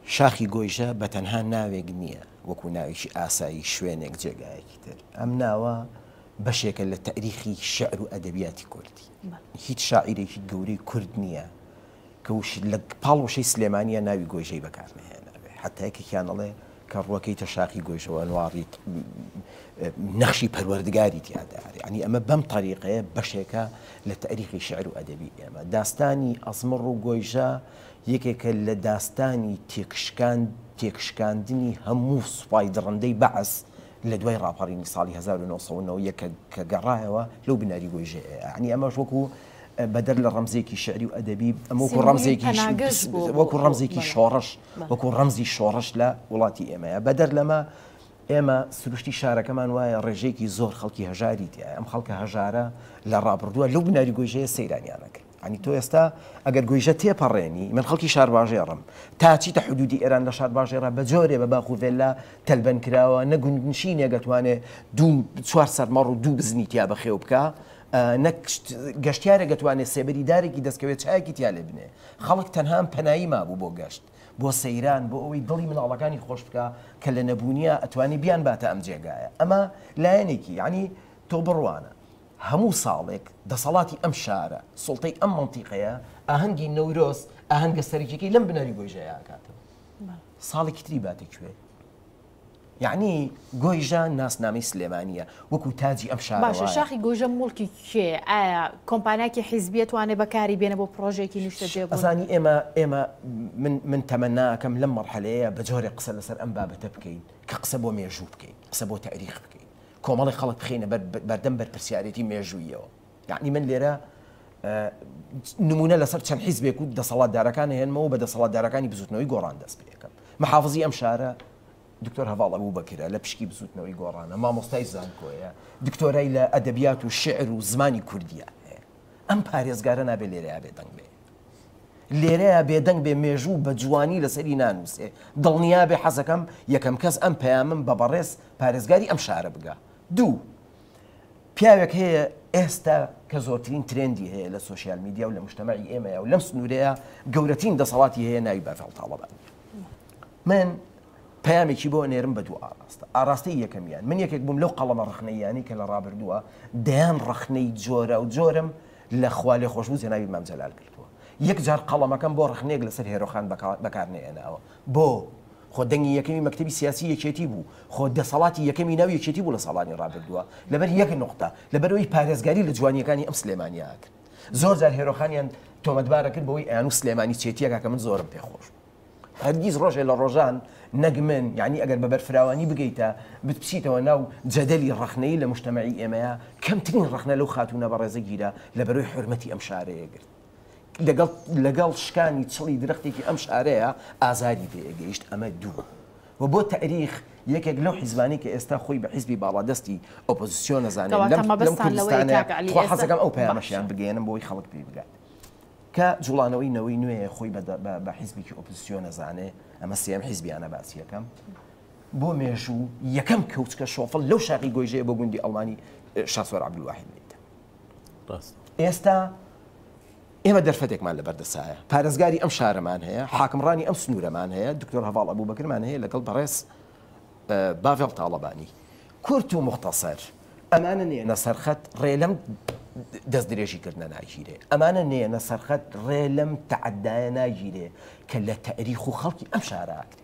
شاخی گۆیژە بە تەنها ناوێک نییە وەکو ناوێکی ئاسایی شوێنێک جێگایەکی تر، ئەم ناوە بەشێکە لە تەئریخی شیعر و ئەدەبیاتی کوردی. هیچ شاعیرێکی گەورەی کورد نییە کە لە پاڵ وشەی سلێمانییە ناوی گۆیژەی بەکار نەهێنابێ. حەتا یەکێکیان ئەڵێ کە ڕووەکەیتە شاخی گۆیژەوە ئەنواڕیت نەخشی پەروەردگاری تیادا. یعنی ئەمە بەم تەریقەیە بەشێکە لە تەئریخی شیعر و ئەدەبی ئێمە. داستانی ئەزمڕ و گۆیژە یەکێکە لە داستانی تێکشکان تێکشکاندنی هەموو سوپای دڕندەی بەعس لە دوای ڕاپەڕینی ساڵی 1991 کە کە گەڕایەوە لەو بناری گۆیژەیە. یعنی ئەمەش وەکو بەدەر لە ڕەمزێکی شعری و ئەدەبی ئەمە وەکو سیمبولی ڕەمزێکی پەناگەش بووە بۆ وەکو بۆ ڕەمزێکی بەڵێ شۆڕش بەڵێ. وەکو ڕەمزی شۆڕش لە وڵاتی ئێمەیە. بەدەر لەمە ئێمە سروشتی شارەکەمان وایە ڕێژەیەکی زۆر خەڵکی هەژاری تیایە، ئەم خەڵکە هەژارە لە ڕابردووە لەو بناری گۆیژەیە سەیرانیان ئەکرد. یانی تۆ ئێستا ئەگەر گۆیژە تێپەڕێنی، من خەڵکی شارباژێڕم، تا چیتە حدودی ئێران لە شارباژێڕا بە جۆرێ بە باخ و ڤێللا تەلبەن کراوە، نە گوندنشینێک ئەتوانێ دوو چوار سەر مەڕ و دوو بزنی تیا بەخێو بکا، نە گەشتیارێک ئەتوانێ سێبەری دارێکی دەستکەوێ چایەکی تیا لێ بنێ. خەڵک تەنها ئەم پەنایی مابوو بۆ گەشت، بۆ سەیران، بۆ ئەوەی دڵی مناڵەکانی خۆش بکا کە لە نەبوونیا ئەتوانێ بیانباتە ئەم جێگایە. ئەمە لایەنێکی، یانی تۆ بڕوانە هەموو ساڵێک دەسەڵاتی ئەم شارە، سوڵتەی ئەم مەنتیقەیە ئاهەنگی نەورۆز، ئاهەنگە سەرەکیەکەی لەم بناری گۆیژەیە ئەکاتەوە. ساڵێکی تری باتە کوێ؟ یەعنی گۆیژە ناسنامەی سلێمانییە، وەکو تاجی ئەم شارە باشە وایە. شاخی گۆیژە موڵکی کێیە؟ ئایا کۆمپانیاکی حیزبیە توانێ بەکاری بێنێ بۆ پڕۆژەیەکی نیشتەجێبوون؟ ئەزانی ئێمە ئێمە من من تەمەنا ئەکەم لەم مەرحەلەیە بە جۆرێک قسە لەسەر ئەم بابەتە بکەین کە قسە بۆ مێژوو بکەین، قسە بۆ تەئریخ بکەین، کۆمەڵێک خەڵک بخەینە بەر بەردەم بەرپرسیارێتی مێژووییەوە. یەعنی من لێرە نمونە لەسەر چەند حیزبێک و دەسەڵاتدارەکان هێنمەوە بە دەسەڵاتدارەکانی بزوتنەوەی گۆڕان دەست پێ ئەکەم. محافزی ئەم شارە دکتۆر هەڤاڵ ئەبوبەکرە، لە پشکی بزوتنەوەی گۆڕانە، مامۆستای زانکۆیە، دکتۆرای لە ئەدەبیات و شیعر و زمانی کوردیە هەیە. ئەم پارێزگارە نابێ لێرەیا بێدەنگ بێ. لێرەیا بێدەنگ بێ مێژوو بە جوانی لەسەری نانووسێ. دڵنیابێ حەزەکەم یەکەم کەس ئەم پەیامەم بە بەڕێز پارێزگاری ئەم شارە بگا. دوو، پیاوێک هەیە ئێستا کە زۆرترین ترێندی هەیە لە سۆشیال میدیا و لە مجتەمەعی ئێمەیا و لەم سنوورەیە گەورەترین دەسەڵاتی هەیە ناوی باڤێڵ تاڵەبانیە. من پەیامێکی بۆ ئەنێرم بە دوو ئاڕاستە. ئاڕاستەی یەکەمیان، من یەکێک بووم لەو قەڵەمە ڕەخنەییانەی کە لە ڕابردووە دەیان ڕەخنەی جۆراوجۆرم لە خوالێخۆشبوو جەنابی مام جەلال گرتووە. یەک جار قەڵەمەکەم بۆ ڕەخنەیەک لەسەر هێرۆخان بەکار نەهێناوە. بۆ؟ خۆ دەنگی یەکەمی مەکتەبی سیاسی یەکێتی بوو، خۆ دەسەڵاتی یەکەمی ناو یەکێتی بوو لە ساڵانی ڕابردووە، لەبەر یەک نوقتە، لەبەرئەوەی پارێزگاری لە جوانییەکانی ئەم سلێمانییە ئەکرد. زۆر جار هێرۆخانیان تۆمەتبار ئەکرد بەوەی ئەیانوو سلێمانی چێتییەکە کە من زۆرم پێ خۆش بوو. هەرگیز ڕۆژێ لە ڕۆژان نەک من، یانی ئەگەر بە بەرفراوانی بگەیتە، بچیتەوە ناو جەدەلی ڕەخنەیی لە موجتەمەعی ئێمەیا، کەمترین ڕەخنە لەو خاتوونە بەڕێزە گیرا لەبەرەی حورمەتی ئەم شارەیە گرت. لەگەڵ لەگەڵ شکانی چڵی درەختێکی ئەم شارەیە ئازاری پێ گەیشت ئەمە دوو. و بۆ تەئریخ یەکێک لەو حیزبانەی کە ئێستا خۆی بە حیزبی باڵادەستی ئۆپۆزیسیۆن ئەزانێ کەواتە لەم لەم مەبەستان لەوەیە کوردستانەیە کاک عەلی خوا ئێستا حەزەکەم ئەو باشە. پەیامەشیان بگەیەنم بۆ ئەوەی خەڵک پێی بگات کە جوڵانەوەی نەوەی نوێیە خۆی بە بە حیزبێکی ئۆپۆزیسیۆن ئەزانێ ئەمە سێیەم حیزبیانە باسی ئەکەم بۆ مێژوو یەکەم کەوچکە شۆفڵ لەو شاخی گۆیژەیە بۆ گوندی ئەڵمانی شاسوار عەبدولواحید لێیدا. ڕاستە. ئێستا ئێمە دەرفەتێکمان لەبەردەسایە، پارێزگاری ئەم شارەمان هەیە، حاکمڕانی ئەم سنوورەمان هەیە، دکتۆر هەڤاڵ ئەبوبەکرمان هەیە لەگەڵ بەڕێز باڤێڵ تاڵەبانی. کورت و موختەسەر، ئەمانە نێنە سەرخەت ڕێ لەم دەستدرێژیکردنە ناگیرێ، ئەمانە نێنە سەرخەت ڕێ لەم تەعەدایە ناگیرێ کە لە تەئریخ و خەڵکی ئەم شارە ئەکرێ.